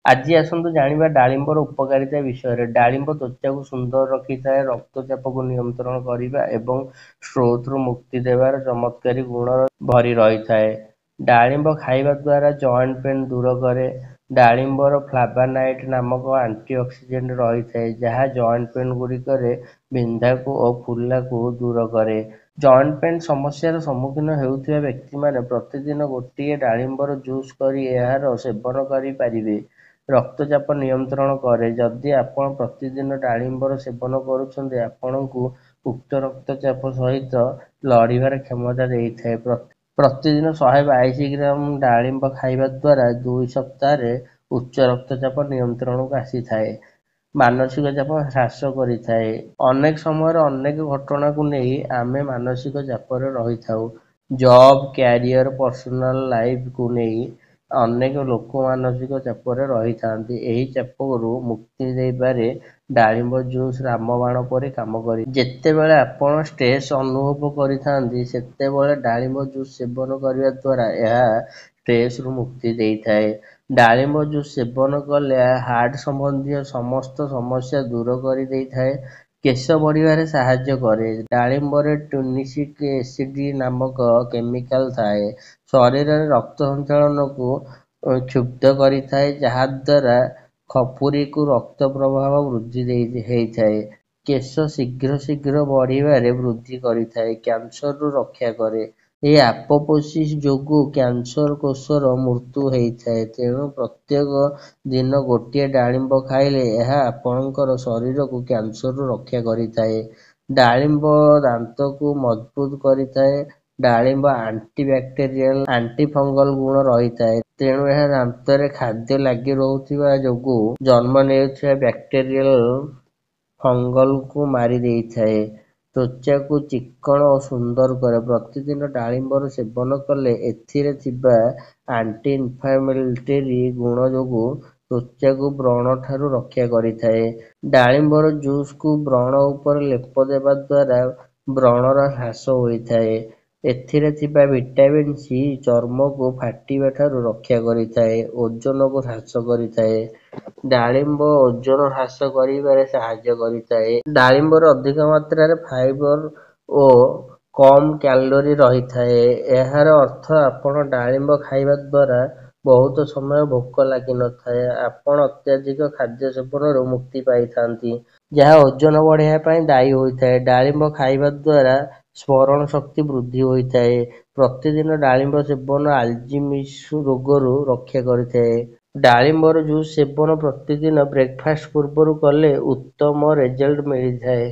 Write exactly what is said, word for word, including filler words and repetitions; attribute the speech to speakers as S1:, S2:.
S1: ଆଜି ଆସନ୍ତୁ ଜାଣିବା ଡାଳିମ୍ବର ଉପକାରିତା ବିଷୟରେ। ଡାଳିମ୍ବ ତ୍ୱଚାକୁ ସୁନ୍ଦର ରଖିଥାଏ, ରକ୍ତଚାପକୁ ନିୟନ୍ତ୍ରଣ କରିବା ଏବଂ ଷ୍ଟ୍ରୋକରୁ ମୁକ୍ତି ଦେବାର ଚମତ୍କାରୀ ଗୁଣ ଭରି ରହିଥାଏ। ଡାଳିମ୍ବ ଖାଇବା ଦ୍ୱାରା ଜଏଣ୍ଟ ପେନ୍ ଦୂର କରେ। ଡାଳିମ୍ବର ଫ୍ଲାଭାନାଇଡ୍ ନାମକ ଆଣ୍ଟିଅକ୍ସିଡେଣ୍ଟ ରହିଥାଏ, ଯାହା ଜଏଣ୍ଟ ପେନ୍ ଗୁଡ଼ିକରେ ବିନ୍ଧାକୁ ଓ ଫୁଲାକୁ ଦୂର କରେ। ଜଏଣ୍ଟ ପେନ୍ ସମସ୍ୟାର ସମ୍ମୁଖୀନ ହେଉଥିବା ବ୍ୟକ୍ତିମାନେ ପ୍ରତିଦିନ ଗୋଟିଏ ଡାଳିମ୍ବର ଜୁସ୍ କରି ଏହାର ସେବନ କରିପାରିବେ। ରକ୍ତଚାପ ନିୟନ୍ତ୍ରଣ କରେ। ଯଦି ଆପଣ ପ୍ରତିଦିନ ଡାଳିମ୍ବର ସେବନ କରୁଛନ୍ତି, ଆପଣଙ୍କୁ ଉଚ୍ଚ ରକ୍ତଚାପ ସହିତ ଲଢ଼ିବାର କ୍ଷମତା ଦେଇଥାଏ। ପ୍ରତିଦିନ ଶହେ ବାଇଶି ଗ୍ରାମ ଡାଳିମ୍ବ ଖାଇବା ଦ୍ୱାରା ଦୁଇ ସପ୍ତାହରେ ଉଚ୍ଚ ରକ୍ତଚାପ ନିୟନ୍ତ୍ରଣକୁ ଆସିଥାଏ। ମାନସିକ ଚାପ ହ୍ରାସ କରିଥାଏ। ଅନେକ ସମୟରେ ଅନେକ ଘଟଣାକୁ ନେଇ ଆମେ ମାନସିକ ଚାପରେ ରହିଥାଉ। ଜବ୍, କ୍ୟାରିୟର, ପର୍ସନାଲ ଲାଇଫକୁ ନେଇ ଅନେକ ଲୋକ ମାନସିକ ଚାପରେ ରହିଥାନ୍ତି। ଏହି ଚାପରୁ ମୁକ୍ତି ଦେବାରେ ଡାଳିମ୍ବ ଜୁସ୍ ରାମବାଣ ପରି କାମ କରେ। ଯେତେବେଳେ ଆପଣ ଷ୍ଟ୍ରେସ୍ ଅନୁଭବ କରିଥାନ୍ତି, ସେତେବେଳେ ଡାଳିମ୍ବ ଜୁସ୍ ସେବନ କରିବା ଦ୍ୱାରା ଏହା ଷ୍ଟ୍ରେସରୁ ମୁକ୍ତି ଦେଇଥାଏ। ଡାଳିମ୍ବ ଜୁସ୍ ସେବନ କଲେ ହାର୍ଟ ସମ୍ବନ୍ଧୀୟ ସମସ୍ତ ସମସ୍ୟା ଦୂର କରିଦେଇଥାଏ। କେଶ ବଢ଼ିବାରେ ସାହାଯ୍ୟ କରେ। ଡାଳିମ୍ବରେ ଟ୍ୟୁନିସିକ୍ ଏସିଡ୍ ନାମକ କେମିକାଲ ଥାଏ। ଶରୀରରେ ରକ୍ତ ସଞ୍ଚାଳନକୁ କ୍ଷୁବ୍ଧ କରିଥାଏ, ଯାହାଦ୍ୱାରା ଖପୁରିକୁ ରକ୍ତ ପ୍ରବାହ ବୃଦ୍ଧି ହେଇଥାଏ। କେଶ ଶୀଘ୍ର ଶୀଘ୍ର ବଢ଼ିବାରେ ବୃଦ୍ଧି କରିଥାଏ। କ୍ୟାନ୍ସରରୁ ରକ୍ଷା କରେ। ଏହି ଆପୋଟୋସିସ୍ ଯୋଗୁଁ କ୍ୟାନ୍ସର କୋଷର ମୃତ୍ୟୁ ହେଇଥାଏ। ତେଣୁ ପ୍ରତ୍ୟେକ ଦିନ ଗୋଟିଏ ଡାଳିମ୍ବ ଖାଇଲେ ଏହା ଆପଣଙ୍କର ଶରୀରକୁ କ୍ୟାନ୍ସରରୁ ରକ୍ଷା କରିଥାଏ। ଡାଳିମ୍ବ ଦାନ୍ତକୁ ମଜବୁତ କରିଥାଏ। ଡାଳିମ୍ବ ଆଣ୍ଟି ବ୍ୟାକ୍ଟେରିଆଲ, ଆଣ୍ଟି ଫଙ୍ଗଲ ଗୁଣ ରହିଥାଏ। ତେଣୁ ଏହା ଦାନ୍ତରେ ଖାଦ୍ୟ ଲାଗି ରହୁଥିବା ଯୋଗୁଁ ଜନ୍ମ ନେଉଥିବା ବ୍ୟାକ୍ଟେରିଆଲ, ଫଙ୍ଗଲକୁ ମାରି ଦେଇଥାଏ। ତ୍ୱଚାକୁ ଚିକ୍କଣ ଓ ସୁନ୍ଦର କରେ। ପ୍ରତିଦିନ ଡାଳିମ୍ବର ସେବନ କଲେ ଏଥିରେ ଥିବା ଆଣ୍ଟି ଇନଫ୍ଲାମେଟୋରୀ ଗୁଣ ଯୋଗୁଁ ତ୍ୱଚାକୁ ବ୍ରଣଠାରୁ ରକ୍ଷା କରିଥାଏ। ଡାଳିମ୍ବର ଜୁସକୁ ବ୍ରଣ ଉପରେ ଲେପ ଦେବା ଦ୍ୱାରା ବ୍ରଣର ହ୍ରାସ ହୋଇଥାଏ। ଏଥିରେ ଥିବା ଭିଟାମିନ୍ ସି ଚର୍ମକୁ ଫାଟିବା ଠାରୁ ରକ୍ଷା କରିଥାଏ। ଓଜନକୁ ହ୍ରାସ କରିଥାଏ। ଡାଳିମ୍ବ ଓଜନ ହ୍ରାସ କରିବାରେ ସାହାଯ୍ୟ କରିଥାଏ। ଡାଳିମ୍ବରେ ଅଧିକ ମାତ୍ରାରେ ଫାଇବର ଓ କମ୍ କ୍ୟାଲୋରୀ ରହିଥାଏ। ଏହାର ଅର୍ଥ ଆପଣ ଡାଳିମ୍ବ ଖାଇବା ଦ୍ୱାରା ବହୁତ ସମୟ ଭୋକ ଲାଗିନଥାଏ। ଆପଣ ଅତ୍ୟଧିକ ଖାଦ୍ୟ ସେବନରୁ ମୁକ୍ତି ପାଇଥାନ୍ତି, ଯାହା ଓଜନ ବଢ଼ାଇବା ପାଇଁ ଦାୟୀ ହୋଇଥାଏ। ଡାଳିମ୍ବ ଖାଇବା ଦ୍ୱାରା ସ୍ମରଣ ଶକ୍ତି ବୃଦ୍ଧି ହୋଇଥାଏ। ପ୍ରତିଦିନ ଡାଳିମ୍ବ ସେବନ ଆଲଜିମର୍ସ ରୋଗରୁ ରକ୍ଷା କରିଥାଏ। ଡାଳିମ୍ବର ଜୁସ୍ ସେବନ ପ୍ରତିଦିନ ବ୍ରେକଫାଷ୍ଟ ପୂର୍ବରୁ କଲେ ଉତ୍ତମ ରେଜଲ୍ଟ ମିଳିଥାଏ।